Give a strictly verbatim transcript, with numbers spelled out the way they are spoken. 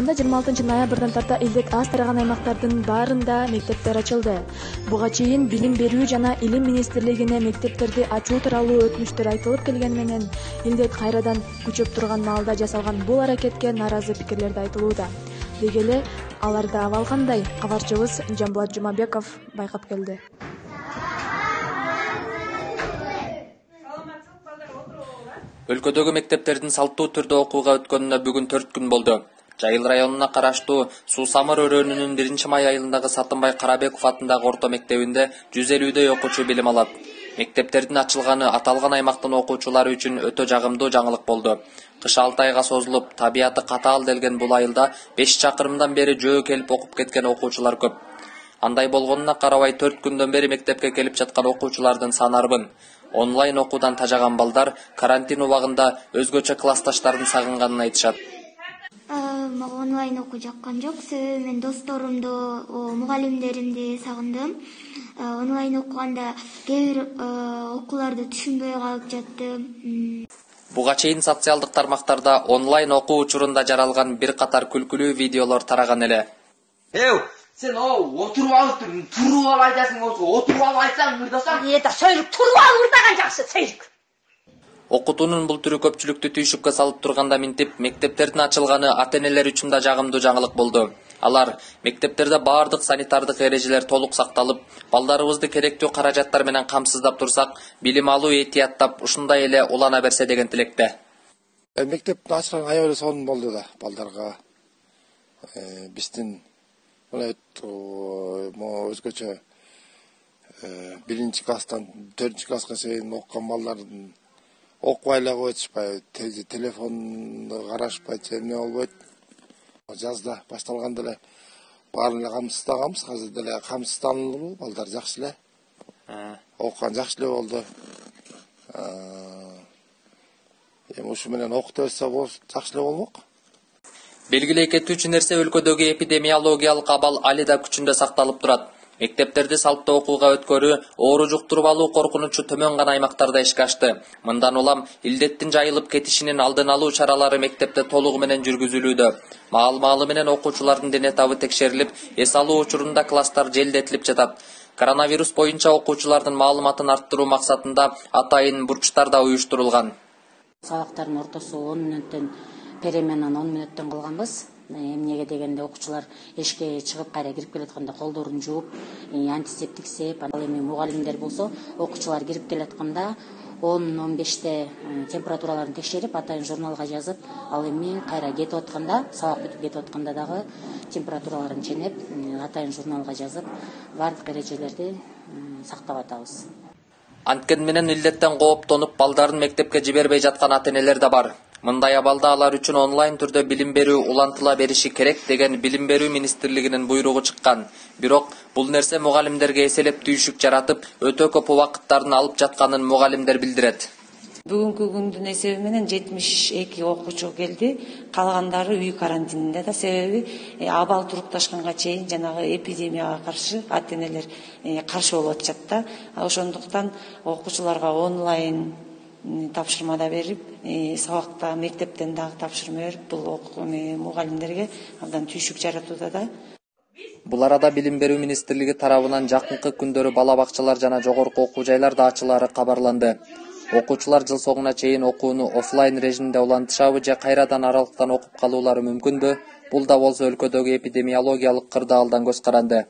Кыргызстанда жыйырма алтынчы ноябрдан тарта илдет аз тараган аймактардын баарында мектептер ачылды. Буга чейин Билим берүү жана Илим министрлигине мектептерди ачуу тууралуу өтүнүчтөр айтылып келгени менен илдет кайрадан күчөп турган маалда жасалган бул аракетке нааразы пикирлер да айтылууда. Деги эле аларда абал кандай? Кабарчыбыз Жамбулат Жумабеков байкап келди. Өлкөдөгү мектептердин салттуу түрдө окууга өткөнүнө бүгүн төрт күн болду. Жайыл районуна караштуу Суу Самыр өрөөнүнүн биринчи май айылындагы Сатынбай Карабеков атындагы орто мектебинде жүз элүүдөй окуучу билим алат. Мектептердин ачылганы аталган аймактын окуучулары үчүн өтө жагымдуу жаңылык болду. Кыш алты айга созулуп, табияты катаал делген бул айылда беш чакырымдан бери жөө келип окуп кеткен окуучулар көп. Андай болгонуна карабай төрт күндөн бери мектепке келип жаткан окуучулардын саны арбын. Онлайн окуудан тажаган балдар карантин убагында өзгөчө классташтарын сагынганын айтышат. Мага онлайн окуу жаккан жок. Себеби мен досторумду, мугалимдеримди сагындым. Онлайн окуганда кээ бир окууларды түшүнбөй калып жаттым. Буга чейин социалдык тармактарда онлайн окуу учурунда жаралган бир катар күлкүлүү видеолор тараган эле. Sen o oturup alıp durun, turup al aytasın olsa, oturup al aytsan mırdasan. Eda söylük, turup al mırdagan жақсы, söylük. Окутуунун бул түрү көпчүлүктү түйшүккө салып турганда минтип, мектептердин ачылганы ата-энелер үчүн да жагымдуу жаңылык болду. Алар мектептерде баардык санитардык эрежелер толук сакталып, балдарыбызды керектүү каражаттар менен камсыздап турсак, билим алуу этияттап, ушундай эле улана берсе деген тилекте. Мектептин ачылган аябай сонун болду да балдарга. Биздин өзгөчө биринчи класстан төртүнчү класска чейин окуган балдардын окубай эле коюшпай, телефонду карашпайт, эмне болбойт. Жазда башталганда эле баарын эле камсыздаганбыз, азыр деле камсызданылуу, балдар жакшы эле. Окуган жакшы эле болду. Эми ушу менен окута берсе жакшы эле болмок. Белгилей кетүүчү нерсе өлкөдөгү эпидемиологиялык абал али да күчүндө сакталып турат. Мектептерди салттуу окууга өткөрүү оору жуктуруп алуу коркунучу төмөн гана аймактарда ишке ашты. Мындан улам илдеттин жайылып кетишинин алдын алуу чаралары мектепте толугу менен жүргүзүлүүдө. Маал-маалы менен окуучулардын дене табы текшерилип, эс алуу учурунда класстар желдетилип жатат. Коронавирус боюнча окуучулардын маалыматын арттыруу максатында атайын бурчтар да уюштурулган. Сабактардын ортосу он мүнөттөн переменаны он мүнөттөн кылганбыз. Эмнеге дегенде окуучулар эшикке чыгып кайра кирип келатканда колдорун жууп, антисептик сеп, ал эми мугалимдер болсо окуучулар кирип келатканда он он беште температураларын текшерип, атайын журналга жазып, ал эми кайра кетип атканда, сабак бүтүп кетип атканда дагы температураларын ченеп, атайын журналга жазып, бардык эрежелерди сактап атабыз. Анткени менен илдеттен кооптонуп, балдарын мектепке жибербей жаткан ата-энелер да бар. Мындай абалда алар үчүн онлайн түрдө билим берүү улантыла бериши керек деген Билим берүү министрлигинин буйругу чыккан. Бирок бул нерсе мугалимдерге эселеп түйшүк жаратып, өтө көп убакыттарын алып жатканын мугалимдер билдирет. Бүгүнкү күндүн эсеби менен жетимиш эки окуучу келди, калгандары үй карантининде да. Себеби абал турукташканга чейин жанагы эпидемияга каршы ата-энелер каршы болуп атышат да. Ошондуктан окуучуларга онлайн тапшырмада берип, сабакта мектептен дагы тапшырма берип, бул мугалимдерге абдан түйшүк жаратууда да. Бул арада Билим берүү министрлиги тарабынан жакынкы күндөрү бала бакчалар жана жогорку окуу жайларда ачылаары кабарланды. Окуучулар жыл соңуна чейин окууну офлайн режимде улантышабы же кайрадан аралыктан окуп калуулары мүмкүнбү? Бул да болсо өлкөдөгү эпидемиологиялык кырдаалдан көз каранды.